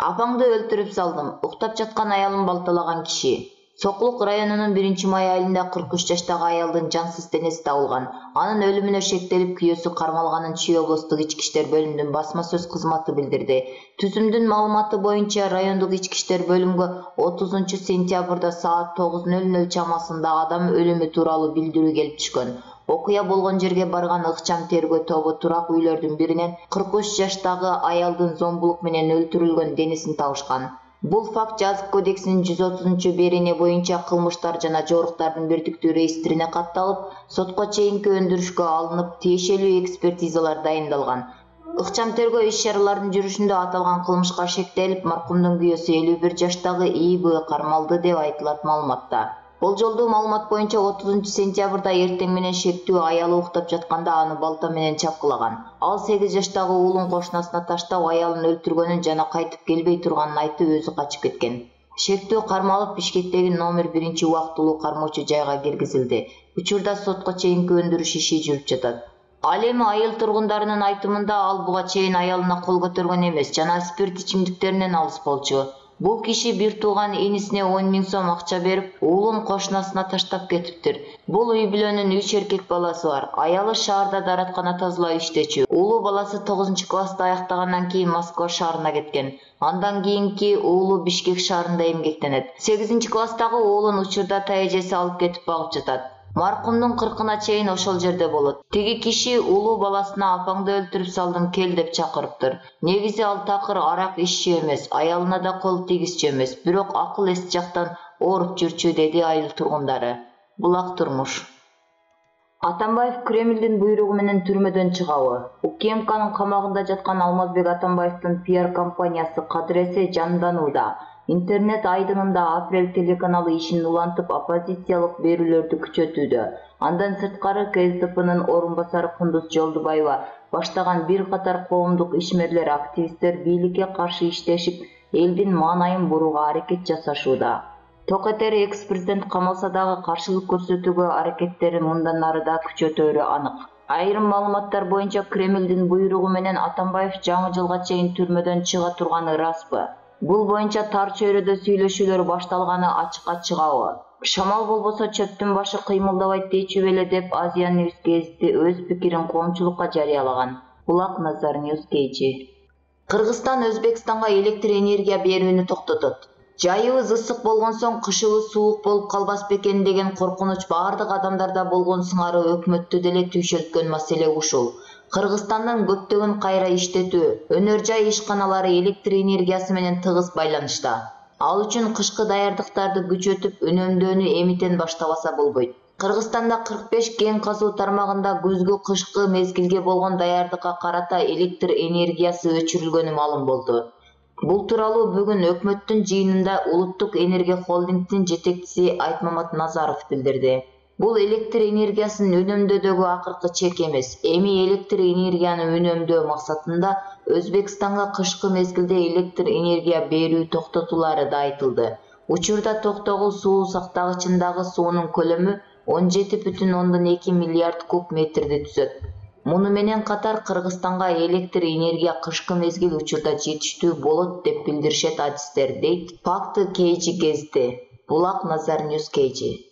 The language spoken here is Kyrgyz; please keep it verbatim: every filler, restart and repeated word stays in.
Апаңды өлтүрүп салдым. Уктап жаткан аялын балталаган киши. Сокулук районунун биринчи май айылында кырк үч жаштагы аялдын жансыз денеси табылган. Анын өлүмүнө шектелип күйөөсү кармалганын Чүй облустук ички иштер бөлүмүнүн басма сөз кызматы билдирди. Түзүмдүн маалыматы боюнча райондук ички иштер бөлүмгө отузунчу сентябрда саат тогуз ноль ноль чамасында адам өлүмү тууралуу билдирүү келип түшкөн. Окуя болгон жерге барган ыкчам тергөө тобу турак үйлөрдүн биринен кырк үч жаштагы аялдын зомбулук менен өлтүрүлгөн денесин табышкан. Бул факт Жазык кодексинин жүз отузунчу берене боюнча кылмыштар жана жоруктардын бирдиктүү реестрине катталып, сотко чейинки өндүрүшкө алынып, тиешелүү экспертизалар дайындалган. Ыкчам тергөө иш-чараларынын жүрүшүндө аталган кылмышка шектелип, маркумдун күйөөсү элүү бир жаштагы И Б кармалды деп айтылат маалыматта. Болжолдуу маалымат боюнча отузунчу сентябрда эртең менен шектүү аялы уктап жатканда аны балта менен чапкылаган. Ал сегиз жаштагы уулун кошунасына таштап, аялын өлтүргөнүн жана кайтып келбей турганын айтып, өзү качып кеткен. Шектүү кармалып Бишкектеги номер биринчи убактылуу кармоочу жайга киргизилди. Учурда сотко чейинки өндүрүш иши жүрүп жатат. Ал эми айыл тургундарынын айтымында ал буга чейин аялына кол көтөргөн эмес жана спирт ичимдиктеринен алыс болчу. Бул киши бир тууган инисине он миң сом акча берип, уулун кошунасына таштап кетиптир. Бул үй бүлөнүн үч эркек баласы бар. Аялы шаарда даараткана тазалап иштечү. Уулу баласы тогузунчу классты аяктагандан кийин Москва шаарына кеткен. Андан кийинки уулу Бишкек шаарында эмгектенет. сегизинчи класстагы уулун учурда тайэжеси алып кетип багып жатат. Маркумдун кыркына чейин ошол жерде болот. Тиги киши уулу баласына апаңды өлтүрүп салдым кел деп чакырыптыр. Негизи ал такыр арак иччү эмес, аялына да кол тийгизчү эмес, бирок акыл эс жактан ооруп жүрчү, деди айыл тургундары. Булак турмуш. Атамбаев Кремлдин буйругу менен түрмөдөн чыгабы? УКМКнын камагында жаткан Алмазбек Атамбаевдин пиар компаниясы кадыресе жанданууда. Интернет айдынында Апрель телеканалы ишин улантып, оппозициялык берүүлөрдү күчөтүүдө. Андан сырткары К С Д Пнын орун басары Кундуз Жолдубаева баштаган бир катар коомдук ишмерлер, активисттер бийликке каршы иштешип, элдин маанайын бурууга аракет жасашууда. Токетери экс-президент камалса дагы каршылык көрсөтүүгө аракеттери мындан ары да күчөтөөрү анык. Айрым маалыматтар боюнча Кремлдин буйругу менен Атамбаев жаңы жылга чейин түрмөдөн чыга турганы распы? Бул боюнча тар чөйрөдө сүйлөшүүлөр башталганы ачыкка чыгабы? Шамал болбосо чөптүн башы кыймылдабайт дейчү беле деп Азия News гезити өз пикирин коомчулукка жарыялаган. Булак Назар News Кейчи. Кыргызстан Өзбекстанга электр энергия берүүнү токтотот. Жайыбыз ысык болгон соң кышыбыз суук болуп калбас бекен деген коркунуч баардык адамдарда болгон сыңары өкмөттү деле түйшөлткөн маселе ушул. Кыргызстандын көптөгөн кайра иштетүү, өнөр жай ишканалары электр энергиясы менен тыгыз байланышта. Ал үчүн кышкы даярдыктарды күчөтүп, үнөмдөөнү эмитен баштабаса болбойт. Кыргызстанда кырк беш кен казуу тармагында күзгү кышкы мезгилге болгон даярдыкка карата электр энергиясы өчүрүлгөнү маалым болду. Бул тууралуу бүгүн өкмөттүн жыйынында Улуттук энергия холдингдин жетекчиси Айтмамат Назаров билдирди. Бул электр энергиясын үнөмдөөдөгү акыркы чек эмес. Эми электр энергияны үнөмдөө максатында Өзбекстанга кышкы мезгилде электр энергия берүү токтотулары да айтылды. Учурда токтогул суу сактагычындагы суунун көлөмү он жети бүтүн ондон эки миллиард куб метрди түзөт. Муну менен катар Кыргызстанга электр энергия кышкы мезгил учурда жетиштүү болот деп билдиришет адистер, дейт Факты Кейжи гезити. Булак Назар News Кейжи.